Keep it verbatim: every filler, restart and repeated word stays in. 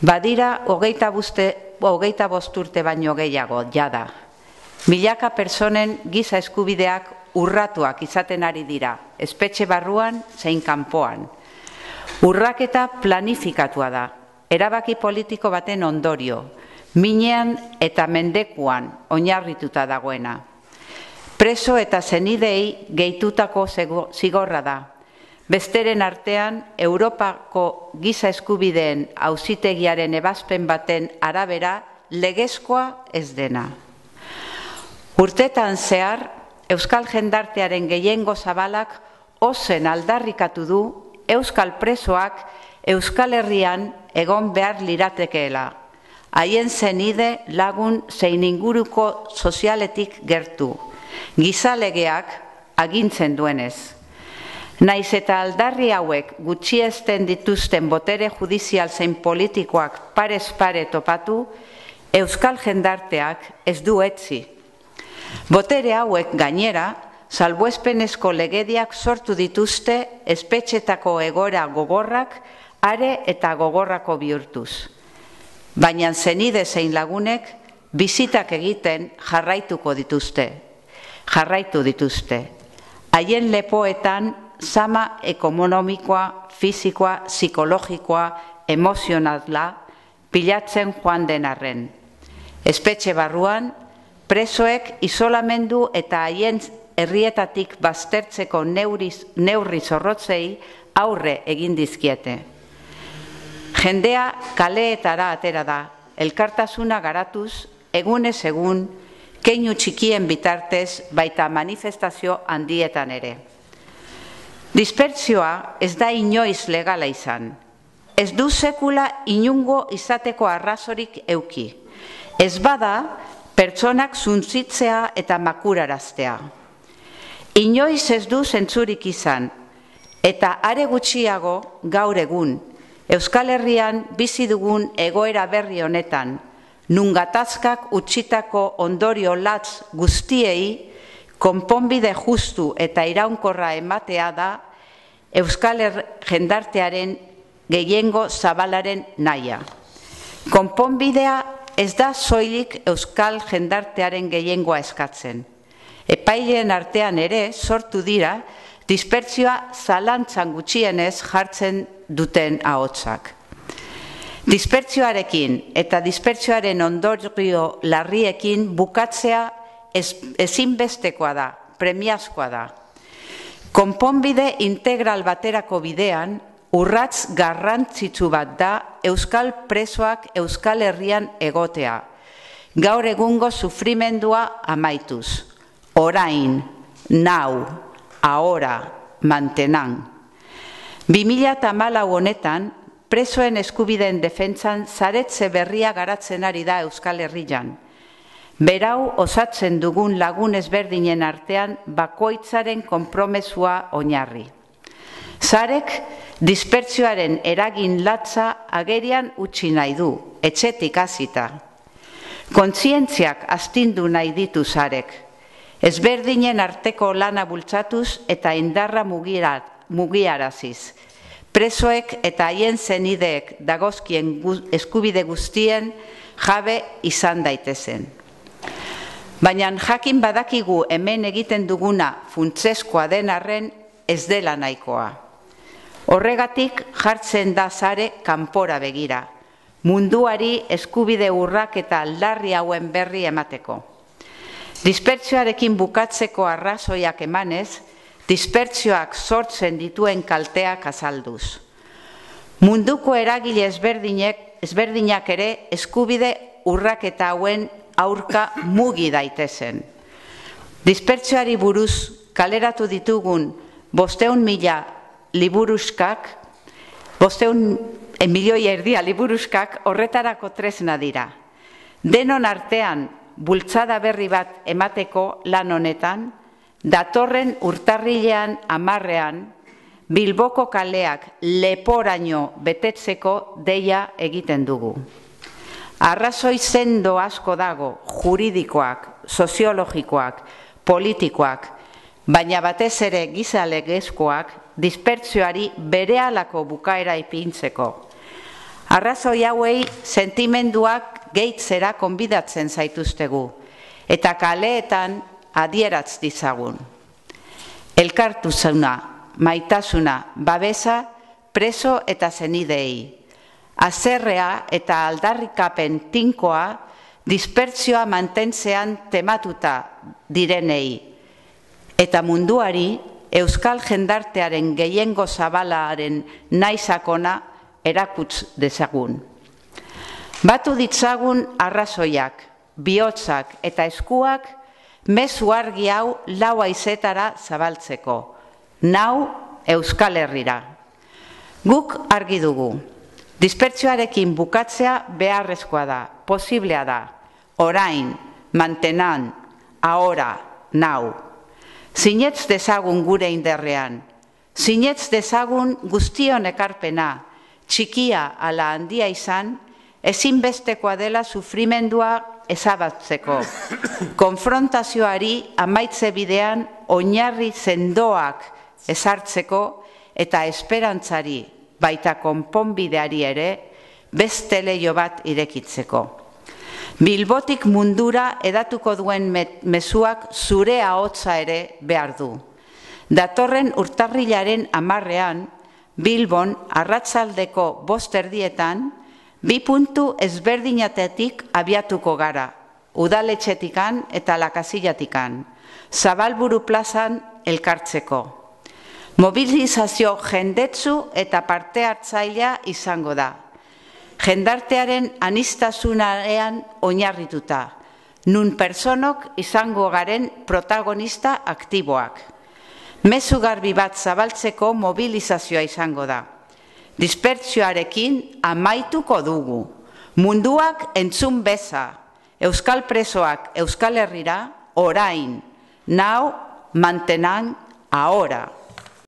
Badira hogeita bost urte baino gehiago, jada. Milaka personen giza eskubideak urratuak izaten ari dira, espetxe barruan zein kanpoan. Urraketa planifikatua da, erabaki politiko baten ondorio, minean eta mendekuan oinarrituta dagoena. Preso eta zenidei gehitutako zigorra da. Besteren artean, Europako giza eskubideen auzitegiaren ebazpen baten arabera legezkoa ez dena. Urtetan zehar, Euskal jendartearen gehiengo zabalak ozen aldarrikatu du Euskal presoak Euskal Herrian egon behar liratekeela, haien zenide lagun zein inguruko sozialetik gertu, gizalegeak agintzen duenez. Naiz eta aldarri hauek gutxiesten dituzten botere judizial zein politikoak parez pare topatu, Euskal jendarteak ez du etzi. Botere hauek gainera, salbuespenezko legediak sortu dituzte espetxetako egoera gogorrak are eta gogorrako bihurtuz. Baina zenide zein lagunek bizitak egiten jarraituko dituzte. Jarraitu dituzte. Haien lepoetan zama ekonomikoa, fisikoa, psikologikoa, emozionala pilatzen joan den arren. Espetxe barruan, presoek isolamendu eta haien herrietatik baztertzeko neurri zorrotzei aurre egin dizkiete. Jendea kaleetara atera da, elkartasuna garatuz, egunez egun, keinu txikien bitartez, baita manifestazio handietan ere. Dispertsioa ez da inoiz legala izan. Ez du sekula inungo izateko arrazorik euki. Ez bada, pertsonak zuntzitzea eta makuraraztea. Inoiz ez du zentzurik izan, eta are gutxiago gaur egun, Euskal Herrian bizi dugun egoera berri honetan, nun gatazkak utzitako ondorio latz guztiei, konponbide justu eta iraunkorra ematea da Euskal jendartearen gehiengo zabalaren nahia. Konponbidea ez da soilik Euskal jendartearen gehiengoa eskatzen. Epaileen artean ere sortu dira dispertsioa zalantzan gutxienez jartzen duten ahotsak. Dispertsioarekin eta dispertsioaren ondorio larriekin bukatzea ezinbestekoa da, premiazkoa da. Konponbide integral baterako bidean, urrats garrantzitsu bat da Euskal presoak Euskal Herrian egotea. Gaur egungo sufrimendua amaituz. Orain, nau, ahora, mantenan. bi mila hamalau honetan, presoen eskubideen defentsan zaretze berria garatzen ari da Euskal Herrian. Berau osatzen dugun lagun ezberdinen artean bakoitzaren konpromesua oinarri. Zarek dispertsioaren eragin latza agerian utzi nahi du, etxetik hasita. Kontzientziak astindu nahi ditu zarek. Ezberdinen arteko lana bultzatuz eta indarra mugiaraziz. Presoek eta haien zenideek dagozkien eskubide guztien jabe izan daitezen. Baina jakin badakigu hemen egiten duguna funtsezkoa den arren ez dela nahikoa. Horregatik jartzen da sare kanpora begira, munduari eskubide urrak eta aldarri hauen berri emateko. Dispertsioarekin bukatzeko arrazoiak emanez, dispertsioak sortzen dituen kalteak azalduz. Munduko eragile ezberdinak ere eskubide urraketa hauen aurka mugi daitezen. Dispertsioari buruz kaleratu ditugun bosteun mila liburuskak, bosteun milioi erdia liburuskak horretarako tresna dira. Denon artean bultzada berri bat emateko lan honetan, datorren urtarrilean hamarrean, Bilboko kaleak leporaino betetzeko deia egiten dugu. Arrazoi sendo asko dago, juridikoak, soziologikoak, politikoak, baina batez ere gizalegezkoak dispertsioari berehalako bukaera ipintzeko. Arrazoi hauei sentimenduak gehitzera konbidatzen zaituztegu, eta kaleetan adieratz dizagun. Elkartasuna, maitasuna, babesa, preso eta zenidei. Azerrea eta aldarrikapen tinkoa dispertsioa mantentzean tematuta direnei, eta munduari euskal jendartearen gehiengo zabalaren naizakona erakutz dezagun. Batu ditzagun arrazoiak, bihotzak eta eskuak mezu argi hau lau haizetara zabaltzeko, nau Euskal Herrira. Guk argi dugu, dispertsioarekin bukatzea beharrezkoa da, posiblea da, orain, mantenan, ahora, nau. Sinetz dezagun gure inderrean, sinetz dezagun guztion ekarpena, txikia ala handia izan, ezinbestekoa dela sufrimendua ezabatzeko. Konfrontazioari amaitze bidean oinarri sendoak ezartzeko eta esperantzari baita konponbideari ere beste leiho bat irekitzeko. Bilbotik mundura edatuko duen mezuak zure ahotsa ere behar du. Datorren urtarrilaren hamarrean, Bilbon arratsaldeko bost erdietan, bi puntu ezberdinatetik abiatuko gara, udaletxetikan eta lakazillatikan, Zabalburu plazan elkartzeko. Mobilizazio jendetsu eta parte hartzailea izango da. Jendartearen aniztasunarean oinarrituta, nun personok izango garen protagonista aktiboak. Mezu garbi bat zabaltzeko mobilizazioa izango da. Dispertsioarekin amaituko dugu. Munduak entzun beza, euskal presoak Euskal Herrira, orain, nau, mantenan, ahora.